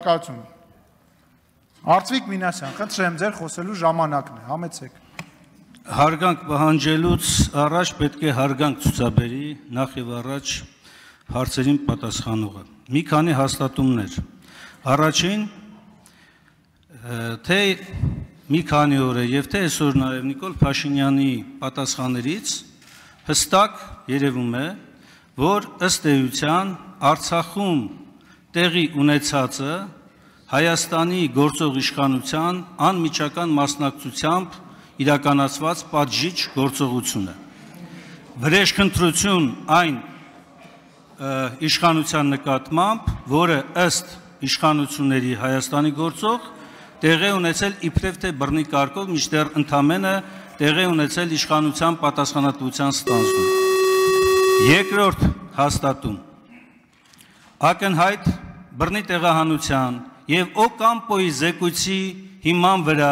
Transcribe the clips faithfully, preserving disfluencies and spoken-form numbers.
Շնորհակալություն։ Արծվիկ Մինասյան, խնդրեմ ձեր խոսելու ժամանակն է, համեցեք։ Հարգանք պահանջելուց առաջ պետք է հարգանք ցուցաբերի նախ եւ առաջ հարցերին պատասխանողը։ Մի քանի հաստատումներ։ Առաջին, թե մի քանի օր է եւ թե այսօր նաեւ Նիկոլ Փաշինյանի պատասխաններից հստակ երևում է, որ ըստ էության Արցախում տեղի ունեցածը Հայաստանի գործող իշխանության անմիջական մասնակցությամբ իրականացված պատժիչ գործողություն է։ Վրեժխնդրություն այն իշխանության նկատմամբ, որը ըստ իշխանությունների Հայաստանի գործող տեղի ունեցել իբրև թե բռնի կարգով, մինչդեռ ընդամենը տեղի ունեցել իշխանության պատասխանատվության ստանձնում։ Երկրորդ հաստատում ակնհայտ բռնի տեղահանության եւ Օկամպոյի զեկույցի հիման վրա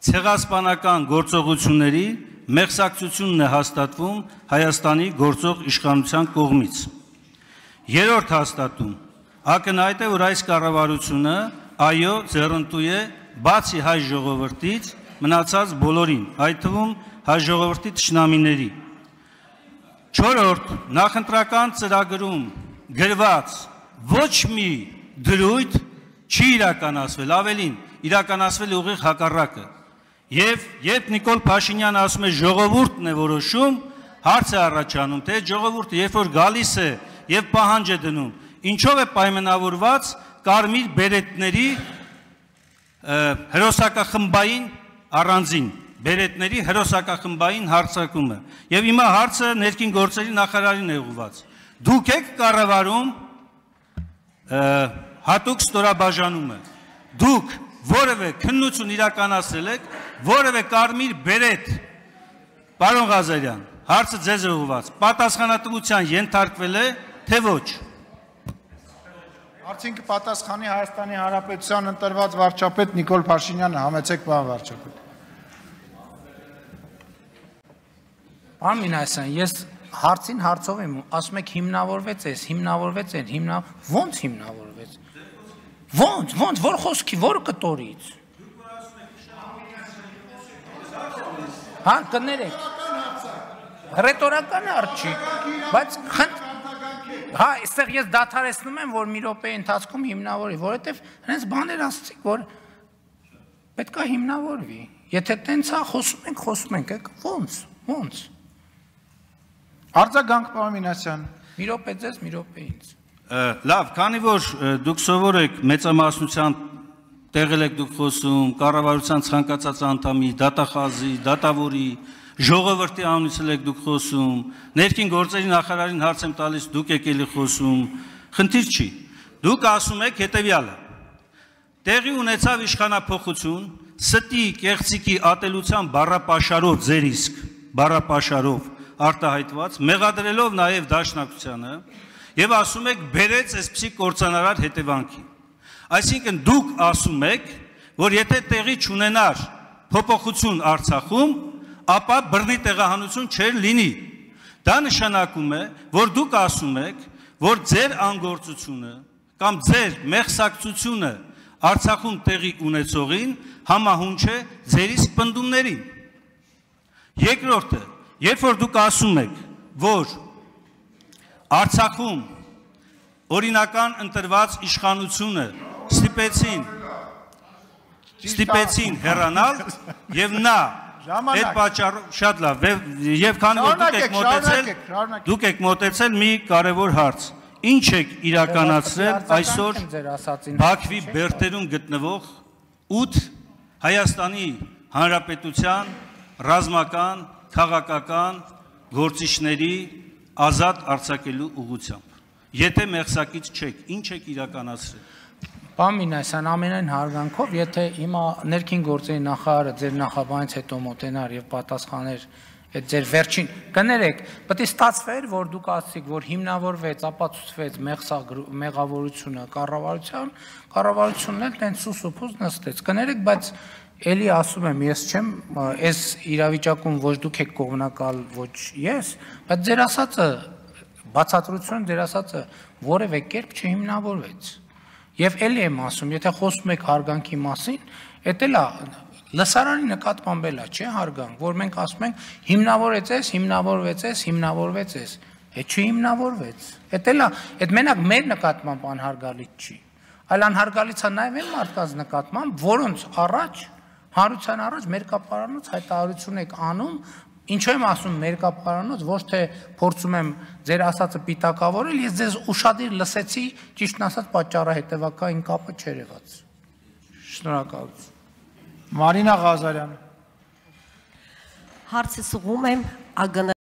ցեղասպանական գործողությունների մեղսակցությունն է հաստատվում Հայաստանի գործող իշխանության կողմից։ Երրորդ հաստատում ակնհայտ է, որ այս կառավարությունը այո ձեռնտու է բացի հայ ժողովրդից մնացած բոլորին, այդ թվում հայ ժողովրդի թշնամիների։ Չորրորդ նախընտրական ծրագրում գրված ոչ մի դրույթ չի իրականացվել, ավելին իրականացվել ուղիղ հակառակը։ Եվ երբ Նիկոլ Փաշինյանը ասում է ժողովուրդն է որոշում, հարց է առաջանում, թե ժողովուրդը երբ որ գալիս է եւ պահանջ է դնում, ինչով է պայմանավորված կարմիր բերետների հերոսակախմբային առանձին, բերետների հերոսակախմբային հարձակումը։ Եվ հիմա հարցը ներքին գործերի նախարարին է ուղղված։ Դուք եք կառավարում հատուկ ստորաբաժանումը։ Դուք որևէ քննություն իրականացրել եք, որևէ կարմիր բերետ, պարոն Ղազարյան, հարցը ձեզ է ուղղված, պատասխանատվության ենթարկվել է, թե ոչ։ Արդյունք պատասխանի Հայաստանի Հանրապետության ընտրված վարչապետ Նիկոլ Փաշինյանը, համեցեք պարոն վարչապետ։ Պարոն Մինասյան, ես հարցին հարցով եմ, ասում եք հիմնավորվեց ես, հիմնավորվեց են, հիմնա ո՞նց հիմնավորվեց։ Ո՞նց, ո՞նց, որ խոսքի, որ կտորից։ Հա, կներեք։ Ռետորական արչի, բայց խնդրեմ Հա, այստեղ ես դադարեցնում եմ, որ մի րոպեի ընթացքում հիմնավորվի, որովհետև հենց բաներ ասացիք, որ պետք է հիմնավորվի։ Եթե տենց է խոսում ենք, խոսում ենք, ո՞նց, ո՞նց։ Արձագանք պարոն Մինասյան։ Մի րոպե ձեզ, մի րոպե ինձ։ Լավ, քանի որ դուք սովոր եք մեծամասնության տեղել եք դուք խոսում, կառավարության ցանկացած անդամի, դատախազի, դատավորի, ժողովրդի անունից եք դուք խոսում, ներքին գործերի նախարարին հարց եմ տալիս, դուք եք էլի խոսում, խնդիր չի։ Դուք ասում եք հետևյալը. տեղի ունեցավ իշխանափոխություն, ստի, կեղծիկի ատելության բառապաշարով ձեր իսկ, բառապաշարով արտահայտված, մեղադրելով նաև դաշնակցությանը, եւ ասում եք բերեց այսպիսի կործանարար հետևանքի։ Այսինքն դուք ասում եք, որ եթե տեղի չունենար փոփոխություն Արցախում, ապա բռնի տեղահանություն չէր լինի։ Դա նշանակում է, որ դուք ասում եք, որ ձեր անգործությունը կամ ձեր մեղսակցությունը Արցախում տեղի ունեցողին համահունչ է ձեր իսկ պնդումներին։ Երկրորդը, երբ որ դուք ասում եք, որ Արցախում օրինական ընտրված իշխանությունը ստիպեցին ստիպեցին հեռանալ եւ նա այդ պատճառով շատ լավ եւ քանի որ դուք եք մոտեցել դուք եք մոտեցել մի կարևոր հարց ինչ եք իրականացրել այսօր Բաքվի բերտերում գտնվող ութ Հայաստանի Հանրապետության ռազմական քաղաքական գործիչների ազատ արձակելու ուղղությամբ եթե մեղսակից չեք ինչ եք իրականացրել Պարոն Մինասյան, ամենայն հարգանքով, եթե հիմա ներքին գործերի նախարարը ձեր նախաբանից հետո մոտենար եւ պատասխաներ այդ ձեր վերջին կներեք, պետք է ստացվեր, որ դուք ասացիք, որ հիմնավորվեց, ապացուցվեց մեղավորությունը կառավարության, կառավարությունն էլ տենց սուսուփուզ նստեց։ Կներեք, բայց էլի ասում եմ, ես չեմ այս իրավիճակում ոչ դուք եք կողմնակալ, ոչ ես, բայց ձեր ասածը բացատրությունը ձեր ասածը որևէ կերպ չհիմնավորվեց։ Եվ էլի եմ ասում, եթե խոսում եք հարգանքի մասին, էդ էլ է լսարանի նկատմամբ էլա, չէ՞ հարգանք, որ մենք ասում ենք հիմնավորվեց, հիմնավորվեց, հիմնավորվեց, այդ չհիմնավորվեց։ Էդ էլ է, այդ մենակ մեր նկատմամբ անհարգալից չի, այլ անհարգալից է նաև այն մարդկանց նկատմամբ, որոնց առաջ հանրության առաջ մերկապարանոց հայտարարություն եք անում, ինչու եմ ասում մերկապարանոց, ոչ թե փորձում եմ ձեր ասածը պիտակավորել, ես ձեզ ուշադիր լսեցի, ճիշտն ասած պատճառահետևակային կապը չէր եղած։ Շնորհակալություն։ Մարինա Ղազարյան։ Հարցը սուղում եմ ԱԳՆ